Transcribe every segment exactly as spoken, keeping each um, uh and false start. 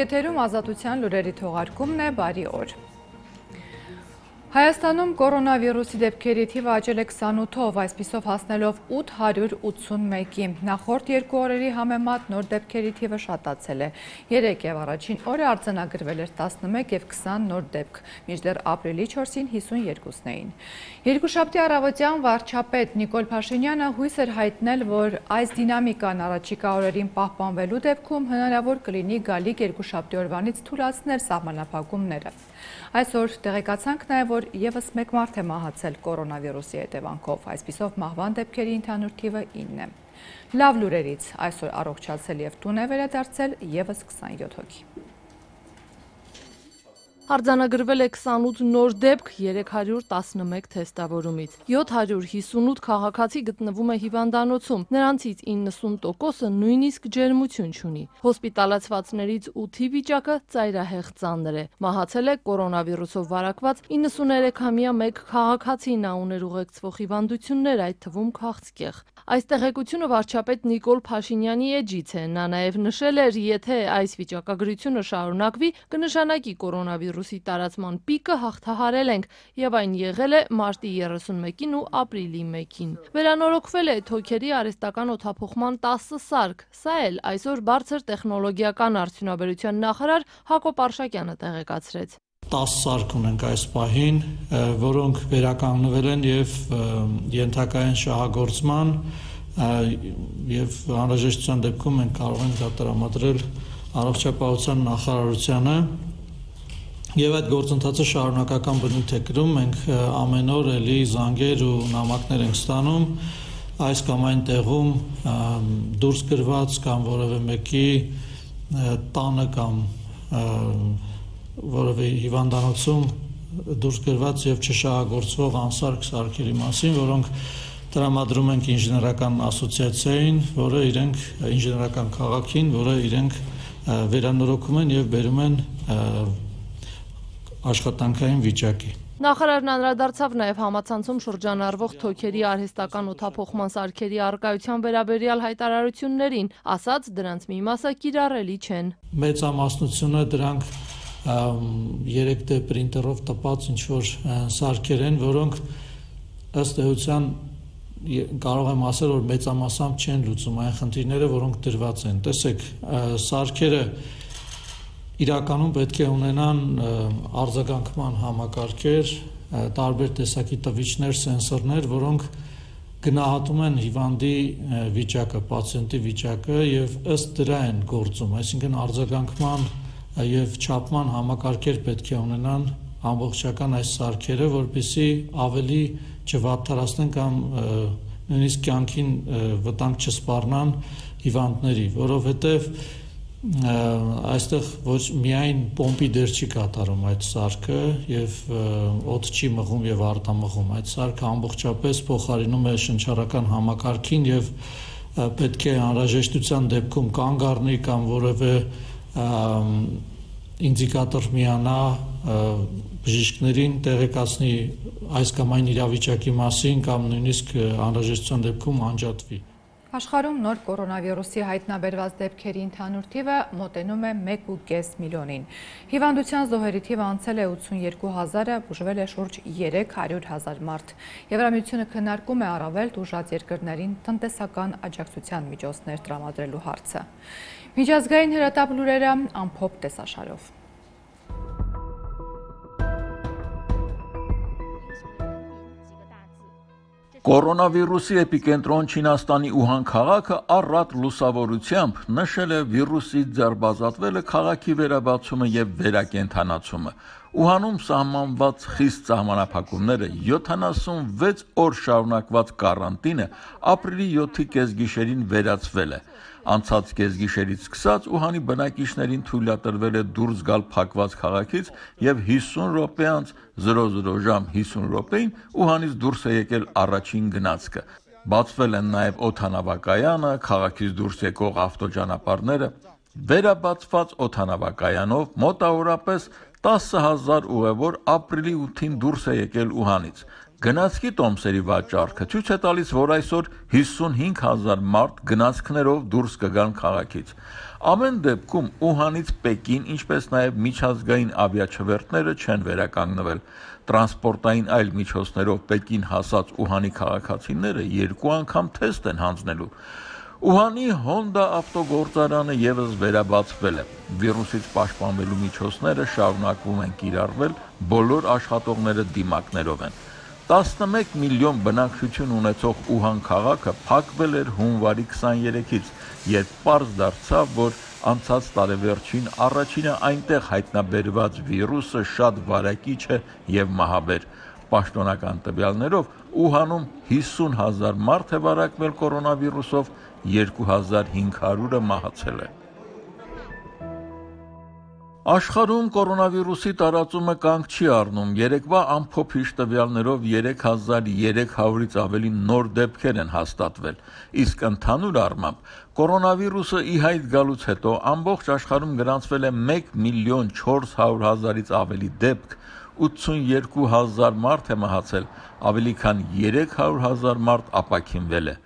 եթերում ազատության լուրերի թողարկումն է, բարի օր։ Հայաստանում կորոնավիրուսի դեպքերի թիվը աճել է քսանութով, այսպիսով հասնելով ութ հարյուր ութսունմեկի։ Նախորդ երկու օրերի համեմատ նոր դեպքերի թիվը շատացել է։ Երեկ եւ առաջին օրը արձանագրվել էր տասնմեկ եւ քսան նոր դեպք, մինչդեռ ապրիլի չորսին հիսունյոթն էին։ Երկուշաբթի առավոտյան վարչապետ Նիկոլ Փաշինյանը հույս էր հայտնել, որ այս դինամիկան առաջիկա օրերին պահպանվելու դեպքում հնարավոր կլինի գալիք երկուշաբթի օրվանից թույլատնել սահմանափակումները։ Այսօր տեղեկացանք նաև, որ ևս մեկ մարդ է մահացել կորոնավիրուսի հետևանքով, այսպիսով մահվան դեպքերի ընդհանուր թիվը ինն է։ Լավ լուրերից այսօր առողջացել եւ տուն է վերադարձել ևս քսանյոթ հոգի։ Արձանագրվել է քսանութ նոր դեպք երեք հարյուր տասնմեկ թեստավորումից։ յոթ հարյուր հիսունութ քաղաքացի գտնվում է հիվանդանոցում, նրանցից իննսուն տոկոսը նույնիսկ ջերմություն չունի։ Հոսպիտալացվածներից ութի վիճակը ծայրահեղ ծանր է։ Մահացել է կորոնավիրուսով վարակված իննսուներեքամյա մեկ քաղաքացի, նա ուներ ուղեկցվող հիվանդություններ, այդ թվում քաղցկեղ։ Այս տեղեկությունը վարչապետ Նիկոլ Փաշինյանի էջից է։ Նա նաև նշել էր, եթե այս վիճակագրությունը շարունակվի, կնշանակի կորոնավիրուսի տարածման պիկը հաղթահարել ենք, եւ այն եղել է մարտի երեսունմեկին ու ապրիլի մեկին։ Վերանորոգվել է թոքերի արհեստական օդափոխման տասը սարք։ Սա էլ այսօր բարձր տեխնոլոգիական արդյունաբերության նախարար Հակոբ Արշակյանը տեղեկացրեց։ տասը սարք ունենք այս պահին, որոնք վերականգնվել են եւ ենթակա են շահագործման եւ անհրաժեշտության դեպքում մենք կարող ենք դա տրամադրել առողջապահության նախարարությանը եւ այդ գործընթացը շարունակական բնույթ է կրում, մենք ամեն օր էլի զանգեր ու նամակներ ենք ստանում այս կամ այն տեղում դուրս գրված կամ որևէ մեկի տանը կամ որևէ հիվանդանոցում դուրս գրված եւ չշահագործվող անսարք սարքերի մասին, որոնք տրամադրում ենք ինժեներական ասոցիացիային, որը իրենք ինժեներական քաղաքին, որը իրենք վերանորոգում են եւ բերում են աշխատանքային վիճակի։ Նախարարն անդրադարձավ նաև համացանցում շրջանառվող թոքերի արհեստական օդափոխման սարքերի առկայության վերաբերյալ հայտարարություններին, ասաց դրանց մի մասը կիրառելի չեն։ Մեծամասնությունը դրանք երեք դե պրինտերով տպած ինչ-որ սարքեր են, որոնք ըստ էության կարող եմ ասել, որ մեծամասամբ չեն լուծում այն խնդիրները, որոնք դրված են։ Տեսեք, սարքերը իրականում պետք է ունենան արձագանքման համակարգեր, տարբեր տեսակի տվիչներ, սենսորներ, որոնք գնահատում են հիվանդի վիճակը, պացիենտի վիճակը եւ ըստ դրա են գործում, այսինքն արձագանքման եւ չափման համակարգեր պետք է ունենան ամբողջական այս սարքերը, որպեսզի ավելի չվատթարացնեն կամ նույնիսկ կյանքին վտանգ չսպառնան հիվանդների, որովհետեւ այստեղ ոչ միայն պոմպի դեր չի կատարում այդ սարքը եւ օդ չի մղում եւ արտամղում, այդ սարքը ամբողջապես փոխարինում է շնչառական համակարգին եւ պետք է անհրաժեշտության դեպքում կանգ առնի կամ որևէ ինդիկատոր միանա բժիշկներին տեղեկացնի այս կամ այն իրավիճակի մասին կամ նույնիսկ անհրաժեշտության դեպքում անջատվի։ Աշխարհում նոր կորոնավիրուսի հայտնաբերված դեպքերի ընդհանուր թիվը մոտենում է մեկ ու կես միլիոնին։ Հիվանդության զոհերի թիվը անցել է ութսունյոթ հազարը, բուժվել է շուրջ երեք հարյուր հազար մարդ։ Եվրամիությունը քննարկում է առավել տուժած երկրներին տնտեսական աջակցության միջոցներ տրամադրելու հարցը։ Միջազգային հրատապ լուրերը ամփոփ տեսաշարով։ Կորոնավիրուսի էպիկենտրոն Չինաստանի Ուհան քաղաքը առատ լուսավորությամբ նշել է վիրուսից ձերբազատվելը, քաղաքի վերաբացումը եւ վերակենդանացումը։ Ուհանում սահմանված խիստ սահմանափակումները, յոթանասունվեց օր շարունակված կարանտինը ապրիլի յոթի կեսգիշերին վերացվել է։ Անցած կեսգիշերից սկսած Ուհանի բնակիչներին թույլատրվել է դուրս գալ փակված քաղաքից եւ հիսուն րոպե անց զրո զրո ժամ հիսուն րոպեին Ուհանից դուրս է եկել առաջին գնացքը։ Բացվել են նաեւ օդանավակայանը, քաղաքից դուրս եկող ավտոճանապարհները։ Վերաբացված օդանավակայանով մոտավորապես տասը հազար ուղևոր ապրիլի ութին դուրս է եկել Ուհանից։ Գնացքի տոմսերի վաճառքը ցույց է տալիս, որ այսօր հիսունհինգ հազար մարդ գնացքներով դուրս կգան քաղաքից։ Ամեն դեպքում Ուհանից Պեկին, ինչպես նաև միջազգային ավիաչվերթները չեն վերականգնվել։ Տրանսպորտային այլ միջոցներով Պեկին հասած Ուհանի քաղաքացիները երկու անգամ թեստ են հանձնելու։ Ուհանի Հոնդա ավտոգործարանը եւս վերաբացվել է։ Վիրուսից պաշտպանվելու միջոցները շարունակվում են կիրառվել, բոլոր աշխատողները դիմակներով են։ տասնմեկ միլիոն բնակչություն ունեցող Ուհան քաղաքը փակվել էր հունվարի քսաներեքից, երբ պարզ դարձավ, որ անցած տարեվերջին առաջինը այնտեղ հայտնաբերված վիրուսը շատ վարակիչ է եւ մահաբեր։ Պաշտոնական տվյալներով Ուհանում հիսուն հազար մարդ է վարակվել կորոնավիրուսով, երկու հազար հինգ հարյուրը մահացել է։ Աշխարհում կորոնավիրուսի տարածումը կանգ չի առնում։ Երեկվա ամփոփիչ տվյալներով երեք հազար երեք հարյուրից ավելի նոր դեպքեր են հաստատվել, իսկ ընդհանուր առմամբ կորոնավիրուսը ի հայտ գալուց հետո ամբողջ աշխարհում գրանցվել է մեկ միլիոն չորս հարյուր հազարից ավելի դեպք, ութսունյոթ հազար մարդ է մահացել, ավելի քան երեք հարյուր հազար մարդ ապաքինվել է։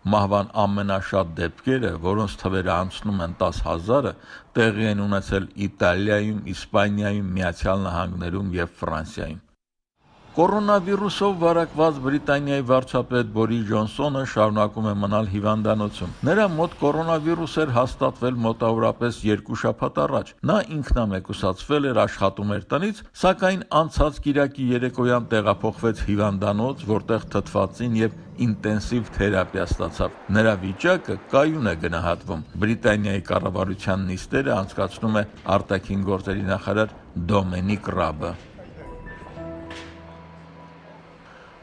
Մահվան ամենաշատ դեպքերը, որոնց թվերը անցնում են տասը հազարը, տեղի են ունեցել Իտալիայում, Իսպանիայում, Միացյալ Նահանգներում եւ Ֆրանսիայում։ Կորոնավիրուսով վարակված Բրիտանիայի վարչապետ Բորիս Ջոնսոնը շարունակում է մնալ հիվանդանոցում։ Նրա մոտ կորոնավիրուս էր հաստատվել մոտավորապես երկու շաբաթ առաջ։ Նա ինքնամեկուսացվել էր, աշխատում էր տնից, սակայն անցած կիրակի երեկոյան տեղափոխվեց հիվանդանոց, որտեղ թթվածին եւ ինտենսիվ թերապիա ստացավ։ Նրա վիճակը կայուն է գնահատվում։ Բրիտանիայի կառավարության նիստերը անցկացնում է արտաքին գործերի նախարար Դոմինիկ Ռաբը։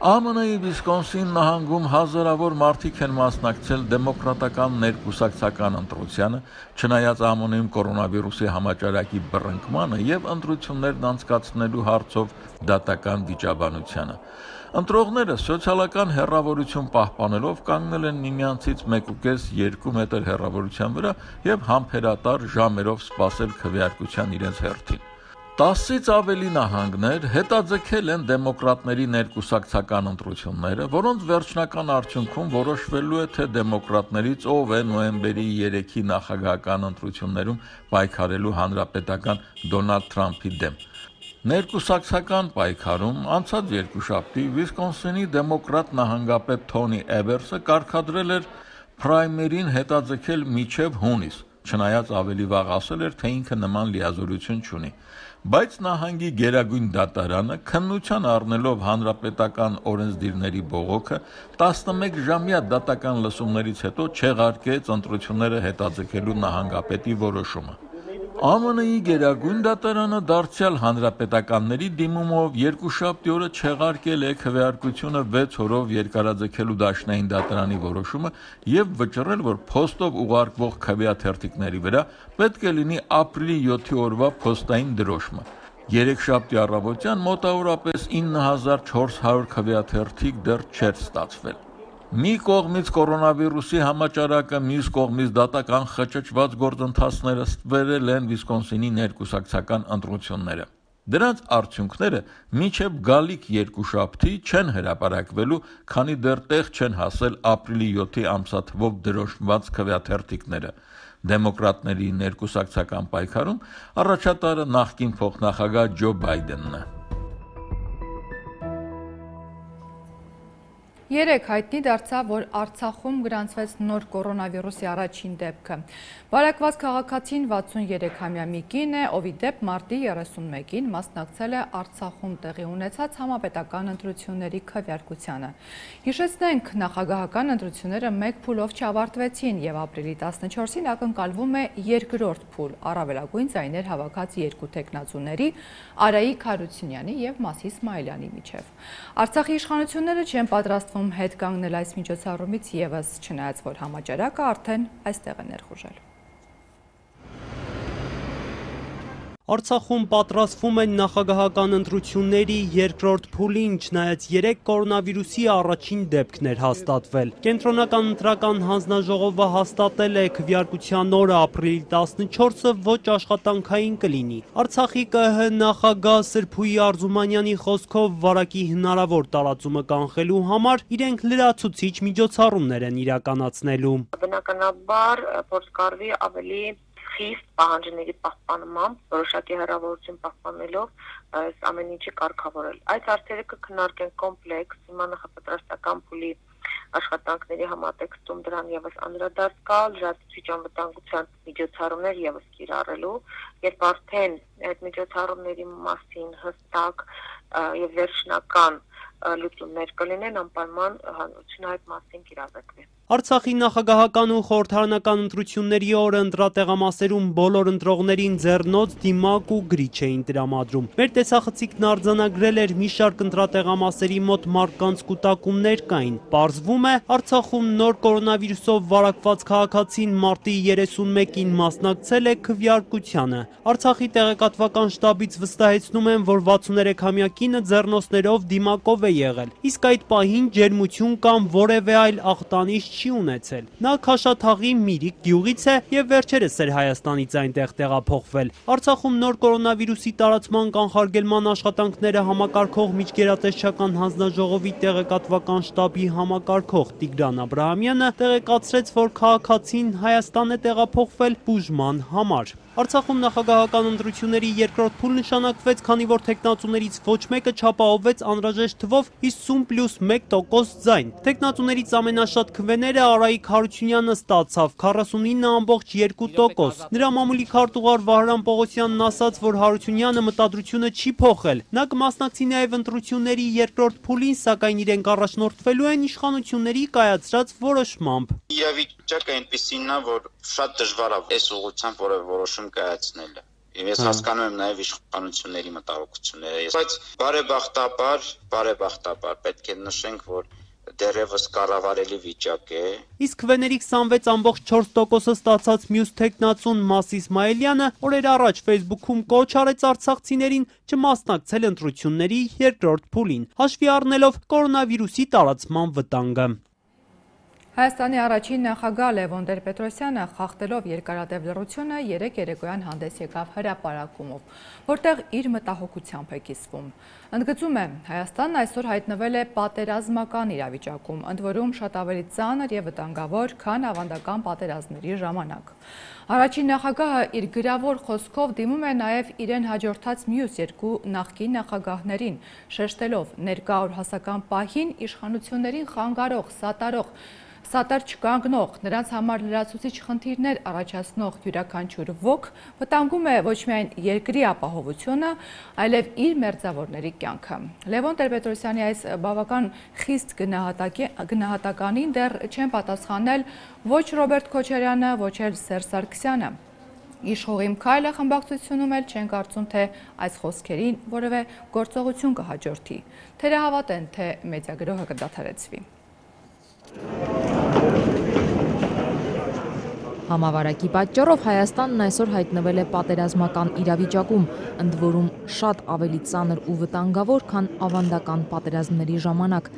Է Մը Նի Վիսկոնսին նահանգում հազարավոր մարդիկ են մասնակցել դեմոկրատական ներկուսակցական ընտրությանը, չնայած Է Մը Նի-ում կորոնավիրուսի համաճարակի բռնկմանը եւ ընտրություններն անցկացնելու հարցով դատական վիճաբանությանը։ Ընտրողները սոցիալական հեռավորություն պահպանելով կանգնել են միմյանցից մեկուկես երկու մետր հեռավորության վրա եւ համբերատար ժամերով սպասել քվեարկության իրենց հերթին։ տասից ավելի նահանգներ հետաձգել են դեմոկրատների ներկուսակցական ընտրությունները, որոնց վերջնական արդյունքում որոշվելու է, թե դեմոկրատներից ով է նոյեմբերի երեքի նախագահական ընտրություններում պայքարելու հանրապետական Դոնալդ Թրամփի դեմ։ Ներկուսակցական պայքարում անցած երկուշաբթի Վիսկոնսինի դեմոկրատ նահանգապետ Թոնի Էբերսը կարգադրել էր փրայմերին հետաձգել մինչև հունիս, չնայած ավելի վաղ ասել էր, թե ինքը նման լիազորություն չունի։ Բայց նահանգի գերագույն դատարանը քննության առնելով հանրապետական օրենսդիրների բողոքը տասնմեկ ժամյա դատական լսումներից հետո չեղարկեց ընտրությունները հետաձգելու նահանգապետի որոշումը։ Է Մը Նի-ի գերագույն դատարանը դարձյալ հանրապետականների դիմումով երկուշաբթի օրը չեղարկել է քվեարկությունը վեց օրով երկարաձգելու դաշնային դատարանի որոշումը եւ վճռել, որ փոստով ուղարկվող քվեաթերթիկների վրա պետք է լինի ապրիլի յոթի օրվա փոստային դրոշմը։ Երեքշաբթի առավոտյան մոտավորապես ինը հազար չորս հարյուր քվեաթերթիկ դեռ չէր ստացվել։ Մի կողմից կորոնավիրուսի համաճարակը, մյուս կողմից դատական խճճված գործընթացները ստվերել են Վիսկոնսինի ներկուսակցական ընտրությունները։ Դրանց արդյունքները մինչև գալիք երկուշաբթի չեն հրապարակվելու, քանի դեռ տեղ չեն հասել ապրիլի յոթի ամսաթվով դրոշմված քվեաթերթիկները։ Դեմոկրատների ներկուսակցական պայքարում առաջատարը նախկին փոխնախագահ Ջո Բայդենն է։ Երեկ հայտնի դարձավ, որ Արցախում գրանցվեց նոր կորոնավիրուսի առաջին դեպքը։ Վարակված քաղաքացին վաթսունյոթամյա մի կին է, ով ի դեպ մարտի երեսունմեկին մասնակցել է Արցախում տեղի ունեցած համապետական ընտրությունների քվեարկությանը։ Հիշեցնենք, նախագահական ընտրությունները մեկ փուլով չավարտվեցին եւ ապրիլի տասնչորսին ակնկալվում է երկրորդ փուլ առավելագույն ձայներ հավաքած երկու տեխնացուների Արայիկ Հարությունյանի եւ Մասի Իսմայելյանի միջև։ Արցախի իշխանությունները չեն պատրաստվում հետ կանգնել այս միջոցառումից եւս, չնայած որ համաճարակը արդեն այստեղ է ներխուժել։ Արցախում պատրաստվում են նախագահական ընտրությունների երկրորդ փուլին, չնայած երեք կորոնավիրուսի առաջին դեպքն էր հաստատվել։ Կենտրոնական ընտրական հանձնաժողովը հաստատել է քվեարկության օրը ապրիլի տասնչորսը ոչ աշխատանքային կլինի։ Արցախի Կ Հ նախագահ Սրփուհի Արզումանյանի խոսքով վարակի հնարավոր տարածումը կանխելու համար իրենք լրացուցիչ միջոցառումներ են իրականացնելու։ Բնականաբար փորձ կարվի ավելի խիստ պահանջների պահպանմամբ, որոշակի հեռավորություն պահպանելով այս ամեն ինչի կարգավորել։ Այս հարցերը կքննարկեն կոմպլեքս, հիմա նախապատրաստական փուլի աշխատանքների համատեքստում դրան եւս անդրադարձ կա, լրացուցիչ անվտանգության միջոցառումներ եւս կիրառելու, երբ արդեն այդ միջոցառումների մասին հստակ եւ վերջնական լուծումներ կլինեն, անպայման հանրությունը այդ մասին կիրառվի։ Արցախի նախագահական ու խորհրդարանական ընտրությունների օրը ընտրատեղամասերում բոլոր ընտրողներին ձեռնոց, դիմակ ու գրիչ էին տրամադրում։ Մեր տեսախցիկն արձանագրել էր մի շարք ընտրատեղամասերի մոտ մարդկանց կուտակումներ կային։ Պարզվում է, Արցախում նոր կորոնավիրուսով վարակված քաղաքացին մարտի երեսունմեկին մասնակցել է քվեարկությանը։ Արցախի տեղեկատվական շտաբից վստահեցնում են, որ վաթսուներեքամյա կինը ձեռնոցներով դիմակով է եղել, իսկ այդ պահին ջերմություն կամ որևէ այլ ախտանիշ չի ունեցել։ Նա Քաշաթաղի Միրիկ գյուղից է եւ վերջերս էր Հայաստանից այնտեղ տեղափոխվել։ Արցախում նոր կորոնավիրուսի տարածման կանխարգելման աշխատանքները համակարգող միջգերատեսչական հանձնաժողովի տեղեկատվական շտաբի համակարգող Տիգրան Աբրահամյանը տեղեկացրեց, որ քաղաքացին Հայաստան է տեղափոխվել բուժման համար։ Արցախում նախագահական ընտրությունների երկրորդ փուլ նշանակվեց, քանի որ թեկնածուներից ոչ մեկը չապահովեց անհրաժեշտ թվով հիսուն պլյուս մեկ տոկոս ձայն։ Թեկնածուներից ամենաշատ քվեները Արայիկ Հարությունյանը ստացավ քառասունինը ամբողջ երկու տոկոս։ Նրա մամուլի քարտուղար Վահրամ Պողոսյանն ասաց, որ Հարությունյանը մտադրությունը չի փոխել։ Նա կմասնակցի նաև ընտրությունների երկրորդ փուլին, սակայն իրենք առաջնորդվելու են իշխանությունների կայացրած որոշմամբ։ Իրավիճակը այնպեսին է, որ շատ դժվար է այս ուղղությամբ որևէ որոշում կայացնելը։ Ես հասկանում եմ նաև իշխանությունների մտահոգությունները, բայց բարեբախտաբար, բարեբախտաբար պետք է նշենք, որ դեռևս կառավարելի վիճակ է։ Իսկ քվեների քսանվեց ամբողջ չորս տոկոսը ստացած մյուս թեկնածուն Մաս Իսմայելյանը օրեր առաջ Facebook-ում կոչ արեց արցախցիներին չմասնակցել ընտրությունների երկրորդ փուլին, հաշվի առնելով կորոնավիրուսի տարածման վտանգը։ Հայաստանի առաջին նախագահ Լևոն Տեր-Պետրոսյանը խախտելով երկարատև լռությունը երեկ երեկոյան հանդես եկավ հրապարակումով, որտեղ իր մտահոգությամբ է կիսվում։ Ընդգծում է, Հայաստանն այսօր հայտնվել է պատերազմական իրավիճակում, ընդ որում շատ ավելի ծանր եւ վտանգավոր, քան ավանդական պատերազմների ժամանակ։ Առաջին նախագահը իր գրավոր խոսքով դիմում է նաև իրեն հաջորդած մյուս երկու նախկին նախագահներին, շեշտելով ներկա օրհասական պահին իշխանություններին խանգարող, սատարող, սատար չկանգնող, նրանց համար լրացուցիչ խնդիրներ առաջացնող յուրաքանչյուր ոք վտանգում է ոչ միայն երկրի ապահովությունը, այլև իր մերձավորների կյանքը։ Լևոն Տեր-Պետրոսյանի այս բավական խիստ գնահատականին դեռ չեն պատասխանել ոչ Ռոբերտ Քոչարյանը, ոչ էլ Սերժ Սարգսյանը։ Իշխողիմ քայլը խմբակցությունում էլ չեն կարծում, թե այս խոսքերին որևէ գործողություն կհաջորդի։ Թերահավատ են, թե մեդիագրոհը կդադարեցվի։ Համավարակի պատճառով Հայաստանն այսօր հայտնվել է պատերազմական իրավիճակում, ընդ որում շատ ավելի ծանր ու վտանգավոր, քան ավանդական պատերազմների ժամանակ։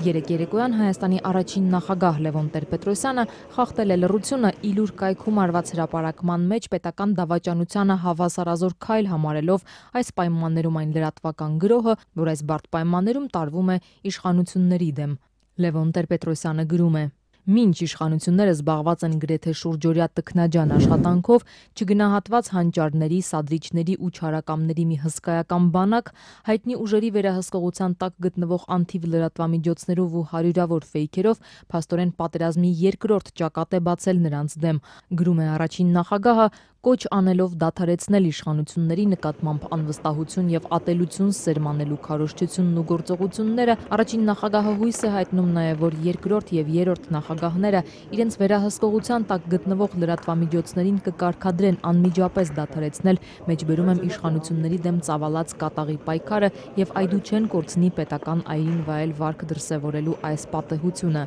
Երեկ երեկոյան Հայաստանի առաջին նախագահ Լևոն Տեր-Պետրոսյանը խախտել է լռությունը իլուր կայքում արված հրապարակման մեջ պետական դավաճանությանը հավասարազոր քայլ համարելով այս պայմաններում այն լրատվական գրոհը, որ այս բարդ պայմաններում տարվում է իշխանությունների դեմ։ Լևոն Տեր-Պետրոսյանը գրում է. Մինչ իշխանությունները զբաղված են գրեթե շուրջօրյա տքնաջան աշխատանքով, չգնահատված հանճարների, սադրիչների ու չարակամների մի հսկայական բանակ, հայտնի ուժերի վերահսկողության տակ գտնվող անթիվ լրատվամիջոցներով ու հարյուրավոր ֆեյքերով փաստորեն պատերազմի երկրորդ ճակատ է բացել նրանց դեմ։ Գրում է առաջին նախագահը, կոչ անելով դադարեցնել իշխանությունների նկատմամբ անվստահություն եւ ատելություն սերմանելու քարոզչությունն ու գործողությունները, առաջին նախագահը հույս է հայտնում նաեւ, որ երկրորդ եւ երրորդ նախագահները իրենց վերահսկողության տակ գտնվող լրատվամիջոցներին կկարգադրեն անմիջապես դադարեցնել, մեջբերում եմ իշխանությունների դեմ ծավալած կատաղի պայքարը եւ այդու չեն կորցնի պետական այրին վայել վարք դրսեւորելու այս պատեհությունը։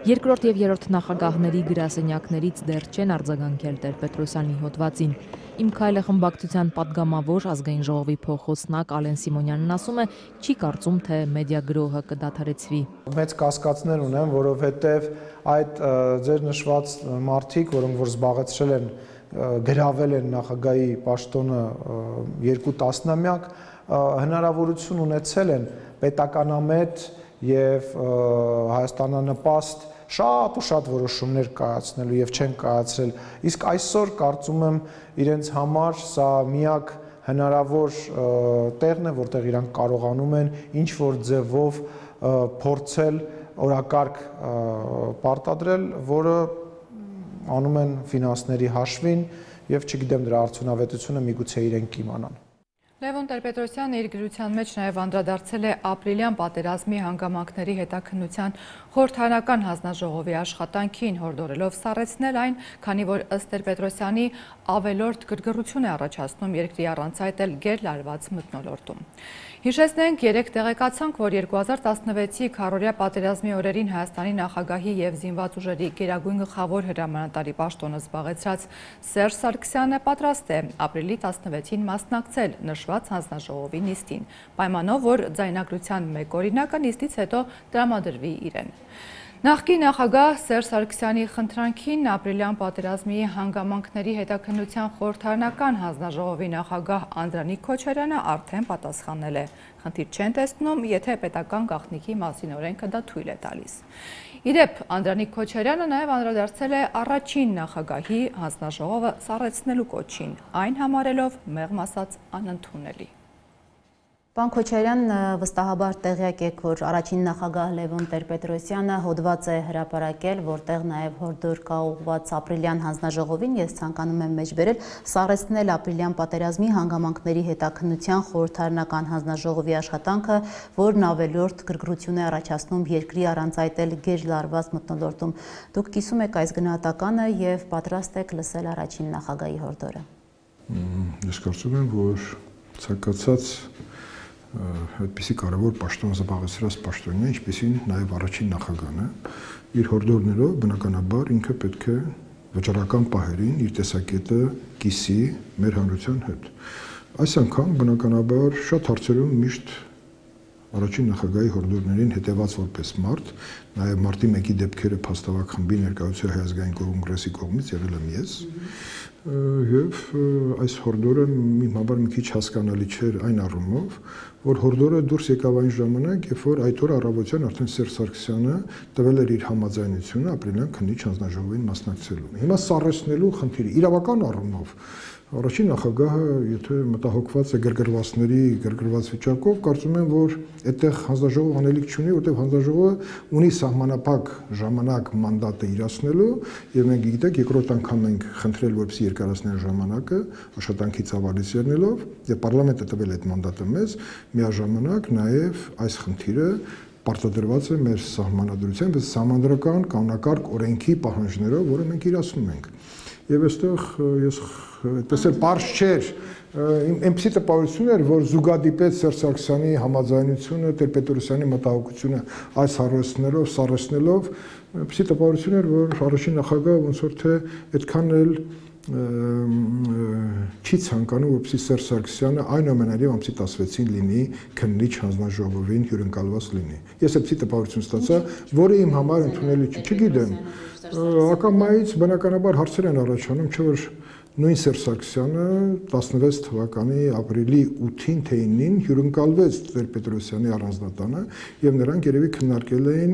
Երկրորդ եւ երրորդ նախագահների գրասենյակներից դեռ չեն արձագանքել Տեր-Պետրոսյանի հոդվածին։ Իմ քայլը խմբակցության падգամավոր ազգային ժողովի փոխոցնակ Ալեն Սիմոնյանն ասում է, չի կարծում, թե մեդիա գրոհը կդադարեցվի։ Մեծ կասկածներ ունեմ, որովհետև այդ ձեր նշված մարդիկ, որոնք որ զբաղեցրել են, գրավել են նախագահի պաշտոնը երկու տասնամյակ, հնարավորություն ունեցել են պետականամետ եւ Հայաստանանպաստ շատ ու շատ որոշումներ կայացնելու եւ չեն կայացրել, իսկ այսօր կարծում եմ իրենց համար սա միակ հնարավոր տեղն է, որտեղ իրանք կարողանում են ինչ որ ձևով փորձել օրակարգ պարտադրել, որը անում են ֆինանսների հաշվին եւ չգիտեմ դրա արդյունավետությունը միգուցե իրենք իմանան։ Լևոն Տեր-Պետրոսյանը իր գրության մեջ նաև անդրադարձել է ապրիլյան պատերազմի հանգամանքների հետաքննության խորհրդարանական հանձնաժողովի աշխատանքին, հորդորելով սառեցնել այն, քանի որ ըստ Տեր-Պետրոսյանի ավելորդ գրգռություն է առաջացնում երկրի առանց այդ էլ գերլարված մթնոլորտում։ Հիշեցնենք, երեկ տեղեկացանք, որ երկու հազար տասնվեցի քառօրյա պատերազմի օրերին Հայաստանի նախագահի եւ զինված ուժերի գերագույն գլխավոր հրամանատարի պաշտոնը զբաղեցրած Սերժ Սարգսյանը պատրաստ է ապրիլի տասնվեցին մասնակցել նշված հանձնաժողովի նիստին, պայմանով, որ ձայնագրության մեկ օրինակը նիստից հետո տրամադրվի իրեն։ Նախկին նախագահ Սերժ Սարգսյանի խնդրանքին ապրիլյան պատերազմի հանգամանքների հետաքննության խորհրդարանական հանձնաժողովի նախագահ Անդրանիկ Քոչարյանը արդեն պատասխանել է։ Խնդիր չեն տեսնում, եթե պետական գաղտնիքի մասին օրենքը դա թույլ է տալիս։ Իրեպ, Անդրանիկ Քոչարյանը նաև անդրադարձել է առաջին նախագահի հանձնաժողովը սառեցնելու կոչին, այն համարելով մեղմ ասած անընդունելի։ Պարոն Քոչարյան, վստահաբար տեղյակ եք, որ առաջին նախագահ Լևոն Տեր-Պետրոսյանը հոդված է հրապարակել, որտեղ նաև հորդոր կա ուղղված ապրիլյան հանձնաժողովին, ես ցանկանում եմ մեջբերել, սառեցնել ապրիլյան պատերազմի հանգամանքների հետաքննության խորհրդարանական հանձնաժողովի աշխատանքը, որն ավելորդ գրգռություն է առաջացնում երկրի առանց այդ էլ գերլարված մթնոլորտում։ Դուք կիսում եք այս գնահատականը եւ պատրաստ եք լսել առաջին նախագահի հորդորը։ Ես կարծում եմ, որ ցանկացած այդպիսի կարևոր պաշտոն զբաղեցրած պաշտոնյա, ինչպիսին նաև առաջին նախագահը, իր հորդորներով բնականաբար ինքը պետք է վճռական պահերին իր տեսակետը կիսի մեր հանրության հետ։ Այս անգամ բնականաբար շատ հարցերում միշտ առաջին նախագահի հորդորներին հետևած որպես մարդ, նաև մարտի մեկի դեպքերը փաստավակ խմբի ներկայացուցիչ Հայ ազգային կոնգրեսի կողմից եղել եմ ես, եւ այս հորդորը իմ համար մի քիչ հասկանալի չէր այն առումով, որ հորդորը դուրս եկավ այն ժամանակ, երբ որ այդ օրը առավոտյան արդեն Սերժ Սարգսյանը տվել էր իր համաձայնությունը ապրիլյան քննիչ հանձնաժողովին մասնակցելու։ Հիմա սառեցնելու խնդիրը իրավական առումով առաջին նախագահը, եթե մտահոգված է գրգռվածների գրգռված վիճակով, կարծում եմ, որ այդտեղ հանձնաժողով անելիք չունի, որտեղ հանձնաժողովը ունի սահմանափակ ժամանակ մանդատը իրացնելու, եւ մենք գիտեք, երկրորդ անգամ ենք խնդրել, որպեսզի երկարացնեն ժամանակը աշխատանքի ծավալից ելնելով, եւ պարլամենտը տվել այդ մանդատը մեզ, միաժամանակ նաեւ այս խնդիրը պարտադրված է մեր սահմանադրության, բայց սահմանադրական կանոնակարգ օրենքի պահանջներով, որը մենք իրացնում ենք։ Եվ այստեղ ես այդպես էլ պարզ չէր, այնպիսի տպավորություն էր, որ զուգադիպեց Սերժ Սարգսյանի համաձայնությունը, Տեր-Պետրոսյանի մտահոգությունը այս հարցներով, սառեցնելով, այնպիսի տպավորություն էր, որ առաջին նախագահը ոնց որ թե այդքան էլ չի ցանկանում, որպեսզի Սերժ Սարգսյանը այնուամենայնիվ ամսի տասնվեցին լինի քննիչ հանձնաժողովին հյուրընկալված լինի։ Ես այդպիսի տպավորություն ստացա, որը իմ համար ընդունելի չէ, չգիտեմ։ Ակամայից բնականաբար հարցեր են առաջանում, չէ՞ որ նույն Սերժ Սարգսյանը տասնվեց թվականի ապրիլի ութին թե ինին հյուրընկալվեց Տեր-Պետրոսյանի առանձնատանը եւ նրանք երևի քննարկել էին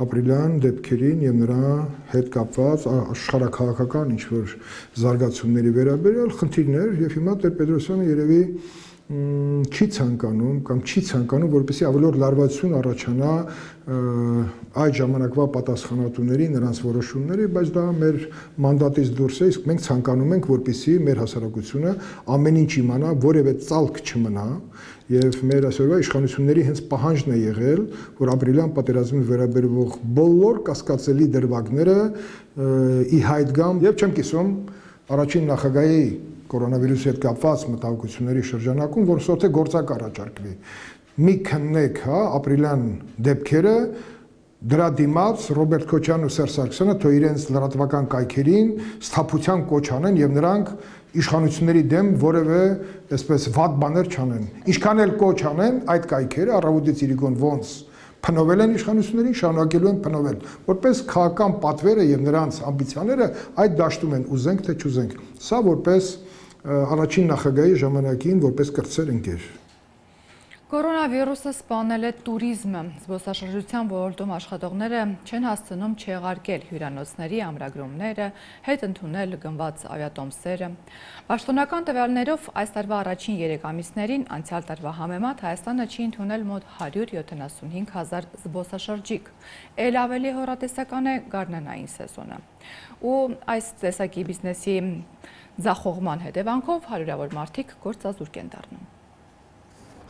ապրիլյան դեպքերին եւ նրա հետ կապված աշխարհաքաղաքական ինչ-որ զարգացումների վերաբերյալ խնդիրներ եւ հիմա Տեր-Պետրոսյանը երևի չի ցանկանում կամ չի ցանկանում, որպեսզի ավելորդ լարվածություն առաջանա այդ ժամանակվա պատասխանատուների նրանց որոշումների, բայց դա մեր մանդատից դուրս է, իսկ մենք ցանկանում ենք, որպեսզի մեր հասարակությունը ամեն ինչ իմանա, որևէ ծալք չմնա, եւ մեր այսօրվա իշխանությունների հենց պահանջն է եղել, որ ապրիլյան պատերազմին վերաբերող բոլոր կասկածելի դրվագները ի հայտ գան, եւ չեմ կիսում առաջին նախագահի կորոնավիրուսի հետ կապված մտահոգությունների շրջանակում, որ սոթե գործակ առաջարկվի։ Մի քննեք, հա, ապրիլյան դեպքերը, դրա դիմաց Ռոբերտ Քոչարյանն ու Սերժ Սարգսյանը թող իրենց լրատվական կայքերին սթափության կոչ անեն եւ նրանք իշխանությունների դեմ որևէ այսպես վատ բաներ չանեն։ Ինչքան էլ կոչ անեն, այդ կայքերը առավոտից իրիկոն ոնց փնովել են իշխանություններին, շարունակելու են փնովել, որպես քաղաքական պատվերը եւ նրանց ամբիցիաները այդ դաշտում են, ուզենք թե չուզենք։ Սա որպես առաջին նախագահի ժամանակին որպես կրտսեր ընկեր։ Կորոնավիրուսը սպանել է տուրիզմը, զբոսաշրջության ոլորտում աշխատողները չեն հասցնում չեղարկել հյուրանոցների ամրագրումները, հետ ընդունել գնված ավիատոմսերը։ Պաշտոնական տվյալներով այս տարվա առաջին երեք ամիսներին անցյալ տարվա համեմատ Հայաստանը չի ընդունել մոտ հարյուր յոթանասունհինգ հազար զբոսաշրջիկ, էլ ավելի հեռատեսական է գարնանային սեզոնը։ Ու այս տեսակի բիզնեսի ձախողման հետևանքով հարյուրավոր մարդիկ գործազուրկ են դառնում։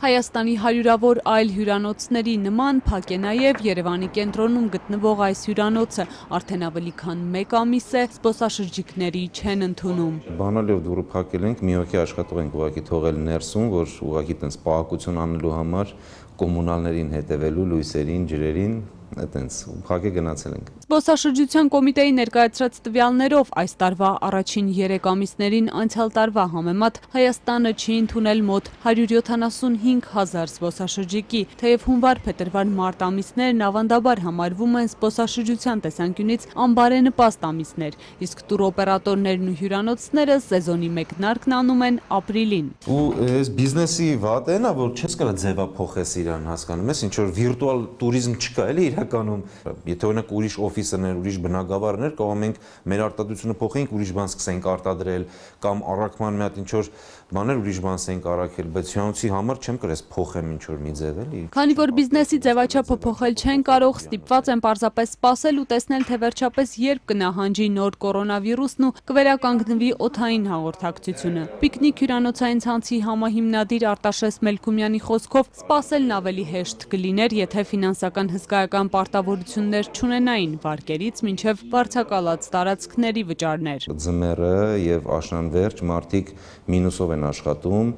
Հայաստանի հարյուրավոր այլ հյուրանոցների նման փակ է նաև Երևանի կենտրոնում գտնվող այս հյուրանոցը, արդեն ավելի քան մեկ ամիս է զբոսաշրջիկների չեն ընդունում։ Բանալիով դուռը փակել ենք, մի հոգի աշխատող ենք ուղղակի թողել ներսում, որ ուղղակի տենց պահակություն անելու համար կոմունալներին հետևելու, լույսերին, ջրերին, այտենց փակե գնացել ենք։ Զբոսաշրջության կոմիտեի ներկայացրած տվյալներով այս տարվա առաջին երեք ամիսներին անցյալ տարվա համեմատ Հայաստանը չի ընդունել մոտ հարյուր յոթանասունհինգ հազար զբոսաշրջիկի, թեև հունվար-փետրվար մարտ ամիսներն ավանդաբար համարվում են զբոսաշրջության տեսանկյունից անբարենպաստ ամիսներ, իսկ տուրօպերատորներն ու հյուրանոցները սեզոնի մեկնարկն անում են ապրիլին։ Ու այս բիզնեսի վատն է, որ չես կարող ձևափոխես իրան, հասկանում ես, ինչ որ վիրտուալ տուրիզմ չկա, էլի իրականում, եթե օրինակ ուրիշ օֆիսներ, ուրիշ բնակավարներ, կարող ենք մեր արտադրությունը փոխենք, ուրիշ բան սկսենք արտադրել կամ առաքման մի հատ ինչ որ բաներ ուրիշ բան սկսենք առաքել, բայց հյուրանոցի համար չեմ կարող փոխեմ ինչ որ մի ձև, էլի։ Քանի որ բիզնեսի ձևաչափը փոխել չեն կարող, ստիպված են պարզապես սպասել ու տեսնել, թե վերջապես երբ կնահանջի նոր կորոնավիրուսն ու կվերականգնվի օդային հաղորդակցությունը։ Պիկնիկ հյուրանոցային ցանցի համահիմնադիր Արտաշես Մելքումյանի խոսքով սպասելն ավելի հեշտ կլիներ, եթե ֆինանսական հսկայական պարտավորություններ չունենային վարկերից մինչև վարձակալած տարածքների վճարներ։ Ձմեռը եւ աշնանվերջ մարդիկ մինուսով են աշխատում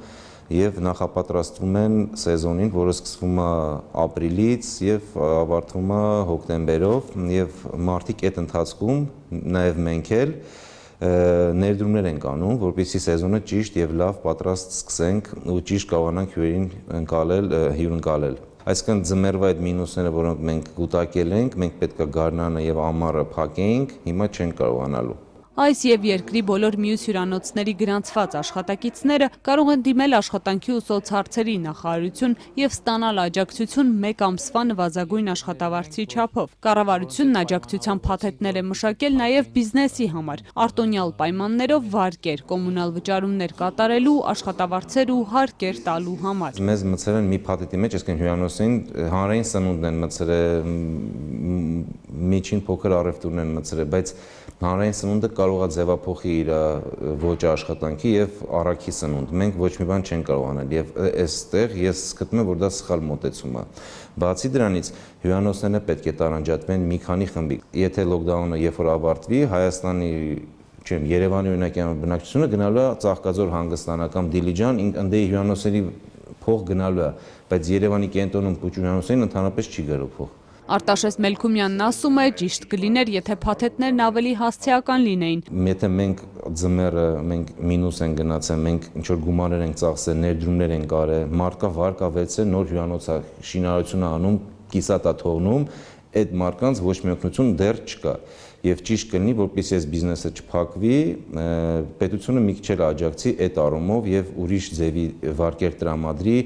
եւ նախապատրաստվում են սեզոնին, որը սկսվում է ապրիլից եւ ավարտվում է հոկտեմբերով եւ մարդիկ այդ ընթացքում նաեւ մենք էլ ներդրումներ ենք անում, որպեսզի սեզոնը ճիշտ եւ լավ պատրաստ սկսենք ու ճիշտ կարողանանք հյուրերին ընկալել, հյուրընկալել։ Այսինքն ձմեռվա այդ մինուսները, որոնք մենք կուտակել ենք, մենք պետք է գարնանը եւ ամառը փակեինք, հիմա չենք կարողանալու։ Այս եւ երկրի բոլոր մյուս հյուրանոցների գրանցված աշխատակիցները կարող են դիմել աշխատանքի ու սոցհարցերի նախարարություն եւ ստանալ աջակցություն մեկ ամսվա նվազագույն աշխատավարձի չափով։ Կառավարությունն աջակցության փաթեթներ է մշակել նաեւ բիզնեսի համար, արտոնյալ պայմաններով վարկեր, կոմունալ վճարումներ կատարելու, աշխատավարձեր ու հարկեր տալու համար։ Մեզ մցել են մի փաթեթի մեջ, այսինքն հյուրանոցին հանրային սնունդն են մցել, միջին փոքր առևտուրն են մցել, բայց հանրային սնունդը կարող է ձևափոխի իր ոճը աշխատանքի եւ առաքի սնունդ։ Մենք ոչ մի բան չենք կարող անել եւ այստեղ ես գտնում եմ, որ դա սխալ մոտեցում է։ Բացի դրանից հյուրանոցները պետք է տարանջատվեն մի քանի խմբի։ Եթե լոկդաունը երբ որ ավարտվի, Հայաստանի չեմ Երևանի օրինակի բնակչությունը գնալու է Ծաղկաձոր հանգստանական Դիլիջան, ընդդե հյուրանոցների փող գնալու է, բայց Երևանի կենտրոնում ու հյուրանոցներին ընդհանրապես չի գալու փող։ Արտաշես Մելքումյանն ասում է, ճիշտ կլիներ, եթե փաթեթներն ավելի հասցեական լինեին։ Եթե մենք ձմեռը մենք մինուս են գնացել, մենք ինչ որ գումարներ ենք ծախսել, ներդրումներ ենք արել, մարդկա վարկա վեցել, նոր հյուրանոցա շինարարություն անում, կիսատ է թողնում, այդ մարդկանց ոչ մի օգնություն դեռ չկա։ Եվ ճիշտ կլինի, որպեսզի այս բիզնեսը չփակվի, պետությունը մի քիչ էլ աջակցի այդ առումով եւ ուրիշ ձևի վարկեր տրամադրի,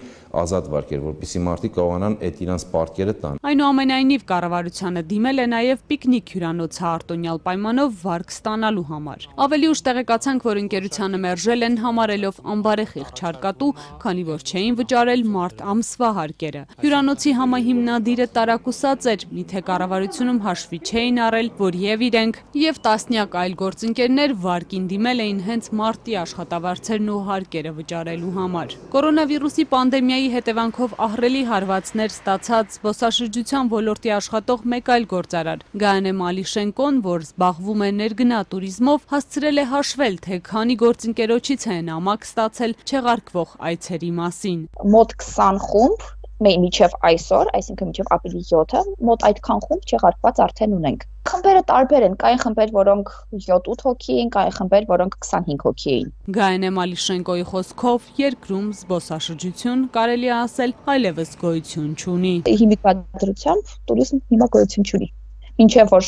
ազատ վարկեր, որպեսզի մարդիկ կարողանան այդ իրանց պարտքերը տան։ Այնուամենայնիվ կառավարությանը դիմել է նաեւ Պիկնիկ հյուրանոցը արտոնյալ պայմանով վարկ ստանալու համար։ Ավելի ուշ տեղեկացանք, որ ընկերությանը մերժել են համարելով անբարեխիղճ հարկատու, քանի որ չէին վճարել մարտ ամսվա հարկերը։ Հյուրանոցի համահիմնադիրը տարակուսած էր, միթե կառավարությունում հաշվի չէին առել, որ եւ իրենք եւ տասնյակ այլ գործընկերներ վարկին դիմել էին հենց մարտի աշխատավարձերն ու հարկերը վճարելու համար։ Կորոնավիրուսի պանդեմիայի հետևանքով ահռելի հարվածներ ստացած զբոսաշրջության ոլորտի աշխատող մեկ այլ գործարար Գայանե Մալիշենկոն, որ զբաղվում է ներգնա տուրիզմով, հասցրել է հաշվել, թե քանի գործընկերոջից են ամակ ստացել չեղարկվող այցերի մասին։ Մոտ քսան խումբ Մինչև այսօր, այսինքն մինչև ապրիլի յոթը, մոտ այդքան խումբ չեղարկված արդեն ունենք։ Խմբերը տարբեր են, կային խմբեր, որոնք յոթ-ութ հոգի էին, կային խմբեր, որոնք քսանհինգ հոգի էին։ Գայանե Մալիշենկոյի խոսքով երկրում զբոսաշրջություն կարելի է ասել այլևս գոյություն չունի։ Հիմիկվադրությամբ տուրիզմ հիմա գոյություն չունի։ Մինչև որ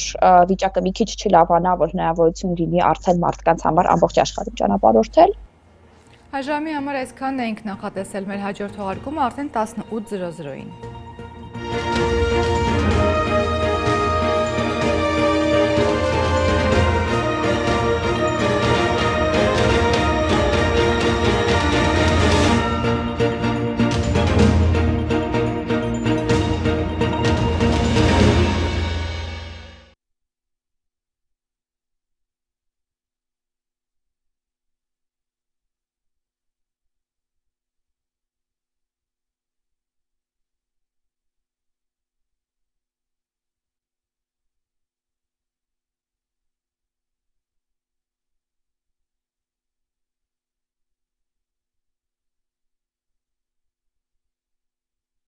վիճակը մի քիչ չլավանա, որ հնարավորություն լինի արդեն մարդկանց համար ամբողջ աշխարհում ճանապարհորդել։ Այժմի համար այսքանն էինք նախատեսել, մեր հաջորդ թողարկումը արդեն տասնութ զրո զրոյին։